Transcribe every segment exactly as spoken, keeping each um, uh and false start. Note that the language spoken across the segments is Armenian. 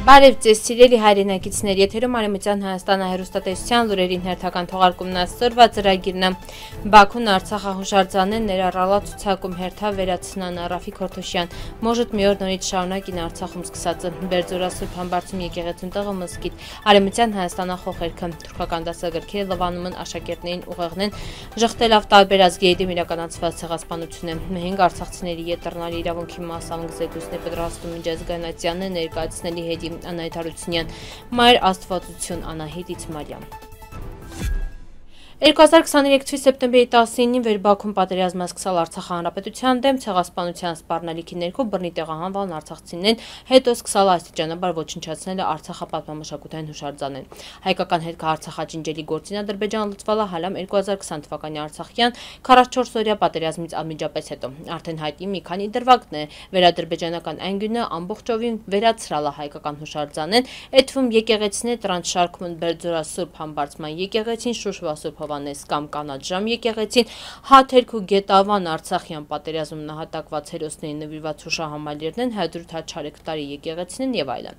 Բարև ձեզ սիրելի հայրենակիցներ, եթերում Արևմտյան Հայաստանը հեռուստատեսության լուրերին հերթական թողարկումն այսօրվա ծրագիրն է։ Բաքուն Արցախը հուշարձանեն ներառալա ցուցակում հերթա վերացնան Ռաֆիկ Հորթոշյան, Մոժդ մի օր նորից շարունակին Արցախում սկսածը, Բերձորասուրբ Համբարձում եկեղեցուն տեղը մզկիթ, Արևմտյան Հայաստանախոխերքը, թուրքական դասագրքերը լվանում են աշակերտներին ուղեղնեն, ժխտելով տարբեր ազգերի դեմ իրականացված ցեղասպանություն է։ Մենք արցախցիների ետռնալի իրավունքի մասամբ զեկույցն է պատրաստում միջազգայնացիանը ներկայացնելի հետ Անահիտ Հարությունյան, Մայր Աստվածություն Անահիտ Իցմարյան։ երկու հազար քսաներեք թվականի սեպտեմբերի տասնինին Վերբաքուն պատերազմը սկսալ Արցախ հանրապետության դեմ ցեղասպանության սպառնալիքի ներքո բռնի տեղահանվան արցախցիներն հետո սկսալ աստիճանաբար ոչնչացնել Արցախը պատմամշակութային հուշարձանեն։ Հայկական հետք Արցախաճինջելի գործին Ադրբեջան լուծվալա հալամ երկու հազար քսան թվականի Արցախյան քառասունչորս օրյա պատերազմից անմիջապես հետո արդեն հայտնի մի քանի դրվագն է վերադրբեջանական անգյունը ամբողջովին վերացրալա հայկական հուշարձանեն, այդ թվում եկեղեցիներ տրանսշարքում Բերձորասուրբ Համբարձման եկեղեցին, Շուշվասուրբ Հովանես կամ Կանաչ ժամ եկեղեցին, Հաթերք ու Գետավան Արցախյան պատերազմում նահատակված հերոսների նվիրված հուշահամալիրներն, Հայդրութ Չարեկտարի եկեղեցին եւ այլն։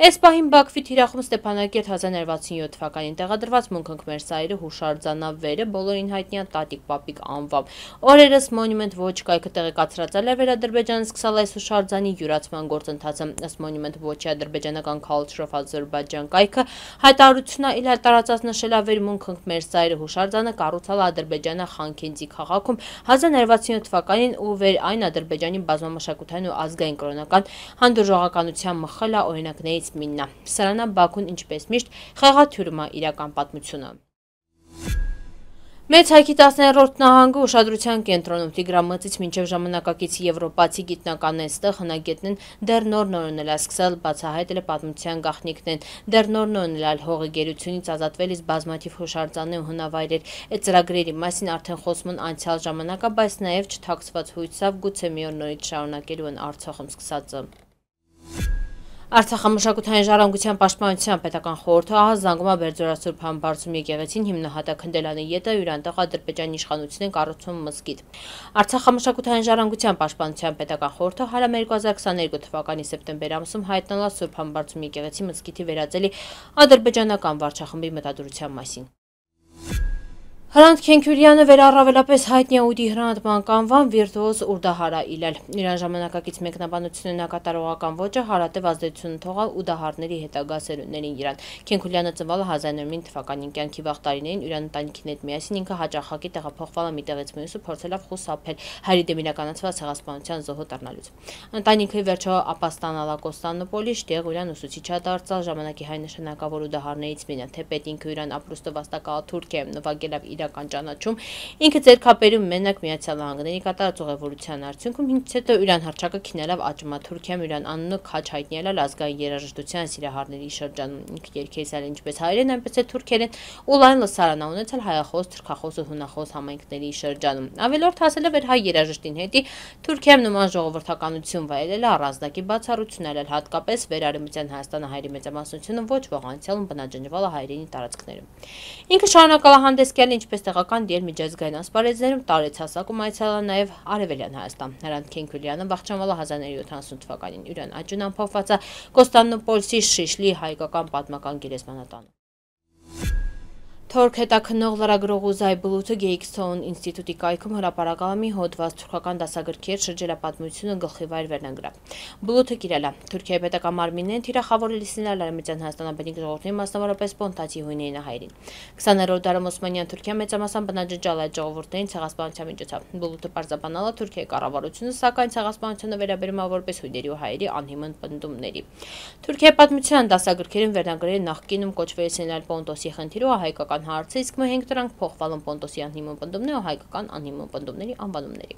Այս պահին Բաքվի թիրախում Ստեփանակերտ հազար նորսուն վաթսունյոթ թվականին տեղադրված Մունք մեր սայրը հուշարձանավերը բոլորին հայտնի Տատիկ Պապիկ անվամբ։ Օրերս Մոնումենտ ոչ կայքը տեղեկացրածել է Վերադրբեջանը սկսալ այս հուշարձանի յուրացման գործընթացը, ըստ Մոնումենտ ոչի ադրբեջանական Culture of Azerbaijan կայքը հայտարարությունն իր տարածած նշելավեր Մունք մեր սայրը հուշարձանը կառուցալ Ադրբեջանը Խանքենդի քաղաքում հազար նորսուն վաթսունյոթ թվականին ու վեր այն Ադրբեջանի բազմամշակութային ու ազգային կրոնական հանդուրժողականության մխելա օրինակներից մինն է։ Սրանա Բաքուն ինչպես միշտ խեղաթյուրում է իրական պատմությունը։ Մեծ հայքի տասներորդ նահանգը ուշադրության կենտրոնում Տիգրամածից մինչև ժամանակակից եվրոպացի գիտնականն այստեղ հնագետն դեռ նոր նորոնել է սկսել բացահայտել պատմության գաղտնիքներն, դեռ նոր նորոնել հողի գերությունից ազատվելիս բազմաթիվ հուշարձաններ ու հնավայրեր, այդ ծրագրերի մասին արդեն խոսում են անցյալ ժամանակա, բայց նաև չթաքցված հույսով գուցե մի օր նորից շարունակելու են Արցախում սկսածը։ Արցախամշակութային ժառանգության պաշտպանության պետական խորհուրդը ահազանգում է Բերձորասուրբ Համբարձում եկեղեցին հիմնահատակ Հնդելանի ետը յուրանտեղ Ադրբեջանի իշխանությունն կառուցում մզկիթ։ Արցախամշակութային ժառանգության պաշտպանության պետական խորհուրդը հարամ երկու հազար քսաներկու թվականի սեպտեմբեր ամսում հայտնала Սուրբ Համբարձում եկեղեցի մզկիթի վերածելի ադրբեջանական վարչախմբի մտադրության մասին։ Հրանտ Քենքյուրյանը վերառավելապես հայտնի է ուդի հրանտման կանվան վիրտուոզ Ուրդահարա իլել։ Իրան ժամանակակից մեկնաբանությունն նակատարողական ոճը հարատև ազդեցություն թողալ ուդահարների հետագա սերունդներին իրան։ Քենքյուրյանը ծնվել է հազար նորսուն թվականին, կյանքի վաղ տարիներին իրան ընտանիքին հետ միասին ինքը հաճախակի տեղափոխվել է մի տեղից մյուսը, փորձելով խուսափել հայերի դեմ իրականացված ցեղասպանության զոհը դառնալուց։ Ընտանիքը վերջո ապաստանալա Կոստանդնուպոլի, տեղ իրան ուսուցիչ է դարձել ժամանակի հայ նշանակավոր ուդահարներից մեկը, թեպետ ինքը իրան ապրուստը վաստակալ Թուրքիա նվագել է իրական ճանաչում, ինքը ձերքապերում մենակ Միացյալ Նահանգների կատարած ուղևորության արդյունքում ինքնից հետո իրան հռչակը քինելով աճում է Թուրքիայում իրան անունը քաչ հայտնի ազգային երաժշտության սիրահարների շրջանում, ինքը երգել ինչպես հայերեն, այնպես էլ թուրքերեն ու լայն լսարան ունեցել հայախոս, թուրքախոս ու հունախոս համայնքների շրջանում։ Ավելորդ հասել է վեր հայ երաժշտին հետի Թուրքիայում նման ժողովրդականություն վայելել է առանձնակի բացառություն արել, հատկապես Վերարևմտյան Հայաստանը հայերի մեծամասնությունը ոչ ոք անցյալում բնաջնջվել է հայերենի տարածքներում։ Ինքը շարունակալ է հանդես գալ ինչպես տեղական դեր միջազգային ասպարեզներում տարեց հասակում այցելել նաև Արևելյան Հայաստան։ Հրանտ Քենքյուրյանը վախճանվել է հազար նորսուն ութանասուն թվականին, իրան աճուն ամփոփված է Կոստանդնուպոլսի Շիշլի հայկական պատմական գերեզմանատանը։ Թորք հետաքննող լրագրող Ուզայ Բլութը Գեյքսթոուն ինստիտուտի կայքում հրապարակալ է մի հոդված թուրքական դասագրքեր շրջերապատմությունը գլխիվայր վերնագրով։ Բլութը կիրել է Թուրքիայի պետական մարմիններն թիրախավորել իսլամական Արևմտյան Հայաստանաբնիկ ժողովրդի մասնավորապես Պոնտացի հույներին հայերին։ քսաներորդ դարում Օսմանյան Թուրքիա մեծամասամբ բնաջնջալ այդ ժողովուրդներին ցեղասպանության միջոցով։ Բլութը պարզաբանալ է Թուրքիայի կառավարությունը, սակայն ցեղասպանությունը վերաբերում է որպես հույների ու հայերի անհիմն պնդումների։ Թուրքիայի պատմության դասագրքերում վերնագրերը նախկինում կոչվել են Պոնտոսի խնդիրը հայկական հարցը, իսկ մենք դրանք փոխվել են Պոնտոսի անհիմն պնդումների ու հայկական անհիմն պնդումների անվանումների։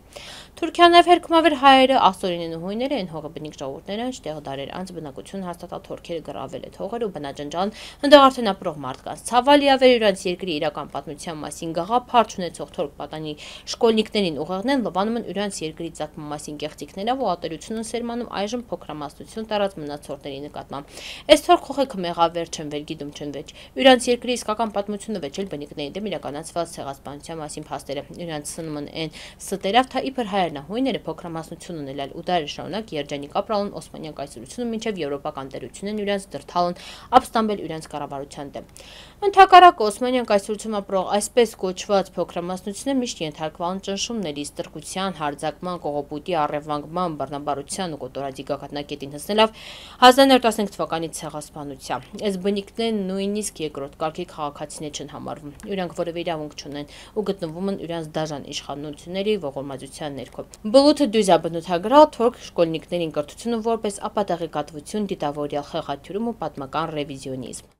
Թուրքիան նաև հերքում ավեր հայերը, աստորինեն ու հույները են հողը բնիկ ժողովուրդները, այնտեղ դարեր անց բնակություն հաստատալ թուրքերը գրավել է հողեր ու բնաջնջան այնտեղ արդեն ապրող մարդկանց։ Ցավալի ավեր իրանց երկրի իրական պատմության մասին գաղափար չունեցող թուրք պատանի շկոլնիկներին ուղեղնեն լվանում են իրանց երկրի ցակման մասին կեղծիքներով ու ատելությունն սերմանում այժմ փոքրամասնություն տարած մնացորդների նկատմամբ։ Այս թուրք խոխեքը մեղավեր չեն վեր գիտում չեն վեճ։ Իրանց երկրի իսկական պատմությունը նախաձեռնությունը վեճել բնիկների դեմ իրականացված ցեղասպանության մասին փաստերը։ Իրանց սնմն են ստերավ թա իբր հայրենահույները փոքրամասնություն ունելալ ու դարեր շարունակ երջանիկ ապրալն Օսմանյան կայսրությունը մինչև եվրոպական տերությունն իրենց դրթալն ապստամբել իրենց կառավարության դեմ։ Ընդհակառակը Օսմանյան կայսրությունում ապրող այսպես կոչված փոքրամասնությունները միշտ ենթարկվան ճնշումների, ստրկության, հարձակման, կողոպուտի, առևանգման, բռնաբարության ու կոտորածի գագաթնակետին հասնելով հազար նորը տասնհինգ թվականի ցեղասպանության։ Այս բնիկներն նույնիսկ երկրորդ կարգի քաղաքացիներ չեն համարվում։ Իրանք որևէ իրավունք չունեն ու գտնվում են իրենց դաժան իշխանությունների ողորմածության ներքո։ Բլութը դյուզա բնութագրալ թուրք շկոլնիկներին կրթությունը որպես ապատեղեկատվություն, դիտավորյալ խեղաթյուրում ու պատմական ռևիզիոնիզմ։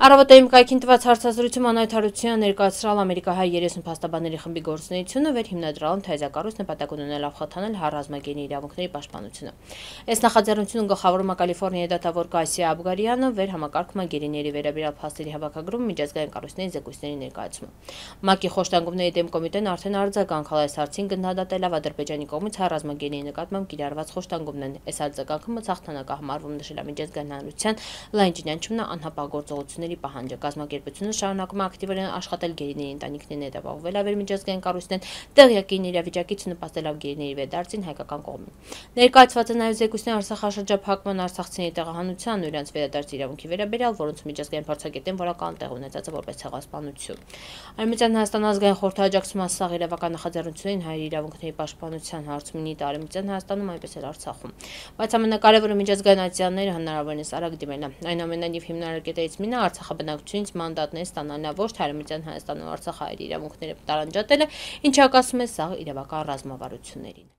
Առավոտային կայքին տված հարցազրույցում Անահիտ Հարությունյանը ներկայացրել ամերիկահայ երեսուն փաստաբանների խմբի գործունեությունը վեր հիմնադրալն թեզակառույց նպատակ ունենալով խթանել հարազմագենի իրավունքների պաշտպանությունը։ Այս նախաձեռնությունը գլխավորում է Կալիֆոռնիայի դատավոր Կասիա Աբգարյանը, վեր համակարգում է գերիների վերաբերյալ փաստերի հավաքագրում միջազգային կառույցների զեկույցների ներկայացումը։ ՄԱԿ-ի խոշտանգումների դեմ կոմիտեն արդեն արձագանքել այս հարցին գնահատելով Ադրբեջանի կողմից հարազմագենի նկատմամբ կիրառված խոշտանգումներն։ Այս արձագանքը մցաղթանակ է համարվում նշել է միջազգային հանրության լայն ճանաչումն անհապաղ գործողությունների պահանջը։ Կազմակերպությունը շարունակում է ակտիվորեն աշխատել գերիների ընտանիքներին հետապահովել ավեր միջազգային կառույցներն տեղյակին իրավիճակից նպաստելով գերիների վերդարձին հայկական կողմին։ Ներկայացված է նաև զեկույցներ Արցախաշրջափակման արցախցիների տեղահանության ու իրենց վերադարձ իրավունքի վերաբերյալ, որոնց միջազգային փորձագետեն որակական տեղ ունեցած է որպես ցեղասպանություն։ Արևմտյան Հայաստան ազգային խորհրդի աջակցության սաղ իրավական նախաձեռնություններին հայերի իրավունքների պաշտպանության հարցում նիտ Արևմտյան Հայաստանում այնպես էլ Արցախում։ Բայց ամենակարևորը միջազգային ատյանները հնարավորինս արագ դիմելն է։ Այնուամենայնիվ հիմնարկետերից մինը Արցախը բնակչությունից մանդատներ ստանալն է, ոչ թե Արևմտյան Հայաստանում Արցախ հայերի իրավունքները տարանջատելը, ինչը հակասում է սաղ իրավական ռազմավարություններին։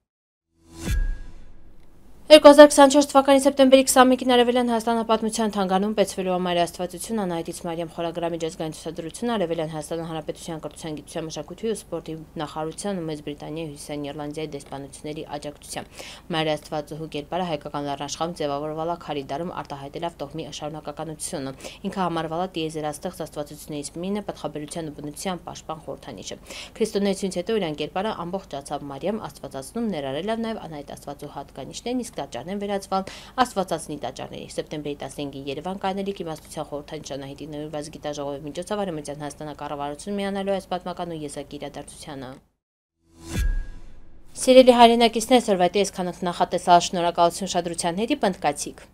երկու հազար քսանչորս թվականի սեպտեմբերի քսանմեկին Արևելյան Հայաստանը պատմության թանգարանում պետսվելու ամառի աստվածություն Անահիտից Մարիամ խորագրամի միջազգային ցուցադրությունը Արևելյան Հայաստանի Հանրապետության կրթության, գիտության, մշակույթի ու սպորտի նախարարության ու Մեծ Բրիտանիայի, Հյուսիսային Իռլանդիայի դեսպանությունների աջակցությամբ։ Մարի աստվածուհու կերպարը հայկական լեռնաշխարհում ձևավորվել է քարի դարում արտահայտելով տոհմի շարունակականությունը։ Ինքը համարվել է տիեզերաստեղծ աստվածություններից մինը պատխաբերության ու բնության պաշտպան խորհրդանիշը։ Քրիստոնեությունից հետո իրան կերպարը ամբողջացավ Մարիամ աստվածածնում ներառելով նաև Անահիտ աստվածու հատկանիշներն, իսկ տաճարներն վերածվել աստվածածնի տաճարների։ Սեպտեմբերի տասնհինգին Երևան կանելիք իմաստության խորհրդանիշ Անահիտի նվիրված գիտաժողովի միջոցով Արևմտյան Հայաստանի կառավարությունը միանալու այս պատմական ու եզակի իրադարձությանը։ Սիրելի հայրենակիցներ, սորվայտի այսքանը նախատեսալ, շնորհակալություն ուշադրության հետ, պնդկացիք։